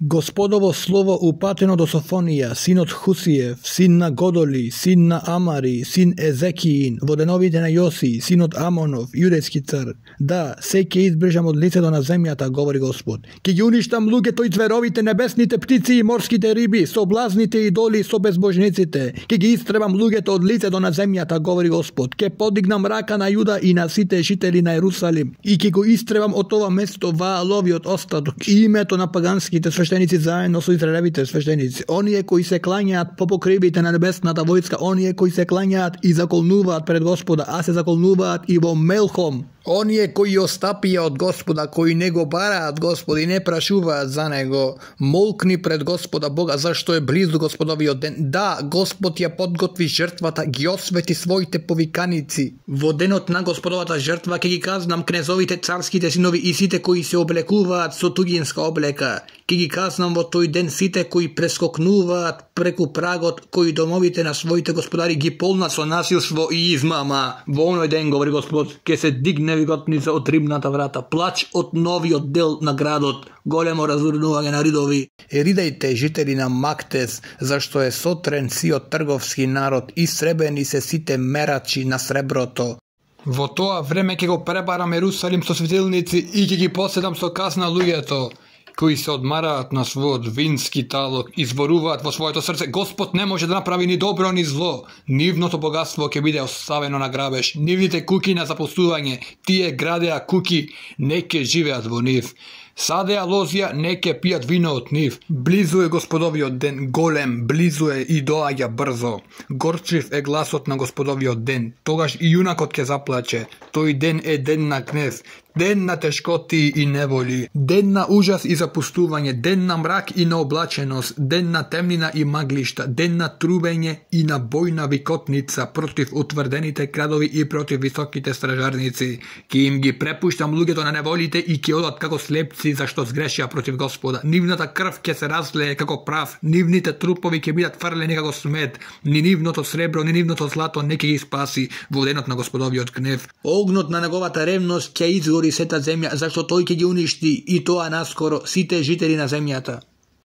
Господово слово упатено до Софонија, синот Хусиев, син на Годоли, син на Амари, син Езекиин, во деновите на Јоси, синот Амонов, јудејски цар. Да, се ќе избрежам од лицето на земјата, говори Господ. Ќе ги уништам луѓето и цверовите, небесните птици и морските риби, соблазните идоли, со безбожниците. Ќе ги истребам луѓето од лицето на земјата, говори Господ. Ќе подигнам рака на Јуда и на сите жители на Ерусалим и ќе го истребам од ова место Вааловиот остаток и името на паганските свештеници заедно со израелевите свештеници, оние кои се клањаат по покривите на небесната војска, оние кои се клањаат и заколнуваат пред Господа, а се заколнуваат и во Мелхом. Оние кои остапија од Господа, кои не го бараат Господа и не прашуваат за него, молкни пред Господа Бога, зашто е близу Господовиот ден. Да, Господ ја подготви жртвата, ги освети своите повиканици. Во денот на Господовата жртва ќе ги казнам кнезовите, царските синови и сите кои се облекуваат со туѓинска облека. Ќе ги казнам во тој ден сите кои прескокнуваат преку прагот, кои домовите на своите господари ги полнат со насилство и измама. Во оној ден, говори Господ, ќе се дигне виготница од рибната врата, плач од новиот дел на градот, големо разурнување на ридови. Ридајте, жители на Мактес, зашто е сотрен сиот трговски народ и сребени се сите мерачи на среброто. Во тоа време ќе го пребарам Ерусалим со светилници и ќе ги поседам со казна луѓето кои се одмараат на својот вински талок и зборуваат во своето срце: Господ не може да направи ни добро ни зло. Нивното богатство ќе биде оставено на грабеж, нивните куки на запустување. Тие градеа куки, не ќе живеат во нив. Садеа лозија, не ќе пијат вино од нив. Близу е Господовиот ден, голем, близу е и доаѓа брзо. Горчив е гласот на Господовиот ден, тогаш и јунакот ќе заплаче. Тој ден е ден на гнев, ден на тешкоти и неволи, ден на ужас и запустување, ден на мрак и на облаченост, ден на темнина и маглишта, ден на трубење и на бојна викотница против утврдените градови и против високите стражарници. Ке им ги препуштам луѓето на неволите и ќе одат како слепци зашто сгрешија против Господа. Нивната крв ќе се разлее како прав, нивните трупови ќе бидат фрлени како смет, ни нивното сребро, ни нивното злато не ќе ги спаси во денот на Господовиот гнев. Огнот на неговата ревност ќе изгори сета земја, зашто тој ќе ги уништи и тоа наскоро сите жители на земјата.